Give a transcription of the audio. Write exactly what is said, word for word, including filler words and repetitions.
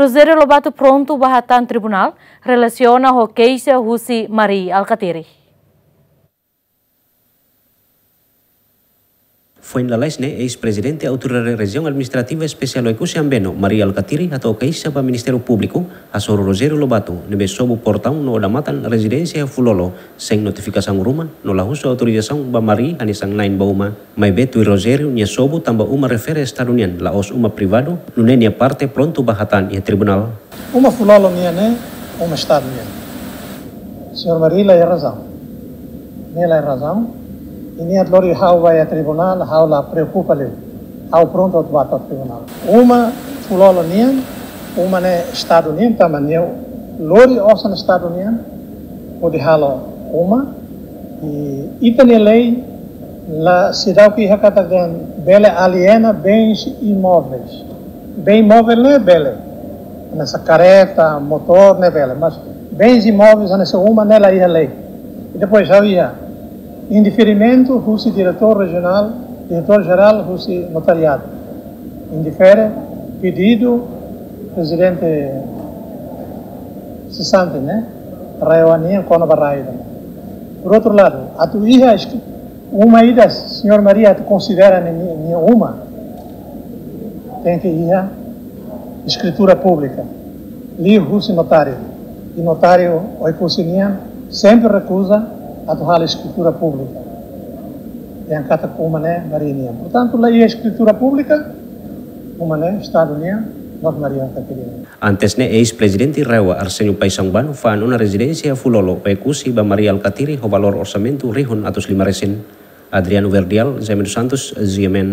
Rogério Lobato prontu ba hatán tribunál relasiona ho keixa husi Mari Alkatiri. Foin lalais ne'e, eis-prezidente Autoridade Rejiaun Administrativa Espesiál Oekusi Ambeno, Mari Alkatiri, hato'o keixa ba Ministériu Públiku hasoru Rogério Lobato, ne'ebé sobu portaun no odamatan rezidénsia Fulolo, sein notifikasaun ruma, no la husu autorizasaun ba Mari hanesan na'in ba uma. Maibé tuir Rogério nia sobu tanba uma refere Estadu nian, la'ós uma privadu, nune'e nia parte prontu ba hatán iha tribunál. Uma Fulolo nian ne'e uma Estadu nian. Señór Mari la iha razaun. Nia la iha razaun. I nia lori ha'u ba iha tribunál, ha'u la preokupa liu. Ha'u prontu atu ba to'o tribunál. Uma Fulolo nian, uma ne'e Estadu nian, tanba nia lori osan Estadu nian, hodi halo uma, i ita-nia lei la, seidauk iha katak dehan bele aliena bens imóveis. Bem imóvel ne'e bele, hanesan karreta, motór ne'e bele, mas bens imóveis hanesan uma ne'e la iha lei. I depois ha'u iha indeferimentu husi diretór rejionál, diretór jerál husi notariadu. Indefere pedidu prezidente sesante ne'e, RAEOA nian kona-ba rai ida. Por outro lado, atu iha eskri-, uma ida señór Mari atu konsidera nia, nia uma, tenke iha eskritura públika, liuhusi notáriu. I notáriu Oekusi nian sempre rekuza atu halo eskritura públika. Dehan katak uma ne'e Mari nian. Portantu, la iha eskritura públika, uma ne'e Estadu nian, no Mari Alkatiri nian. Antes ne'e, eis-prezidente RAEOA, Arsénio Paixão Bano, fa'an ona rezidénsia Fulolo, Oekusi, ba Mari Alkatiri ho valór orsamentu rihun atus lima resin. Adriano Verdial, Jaime dos Santos, G M N.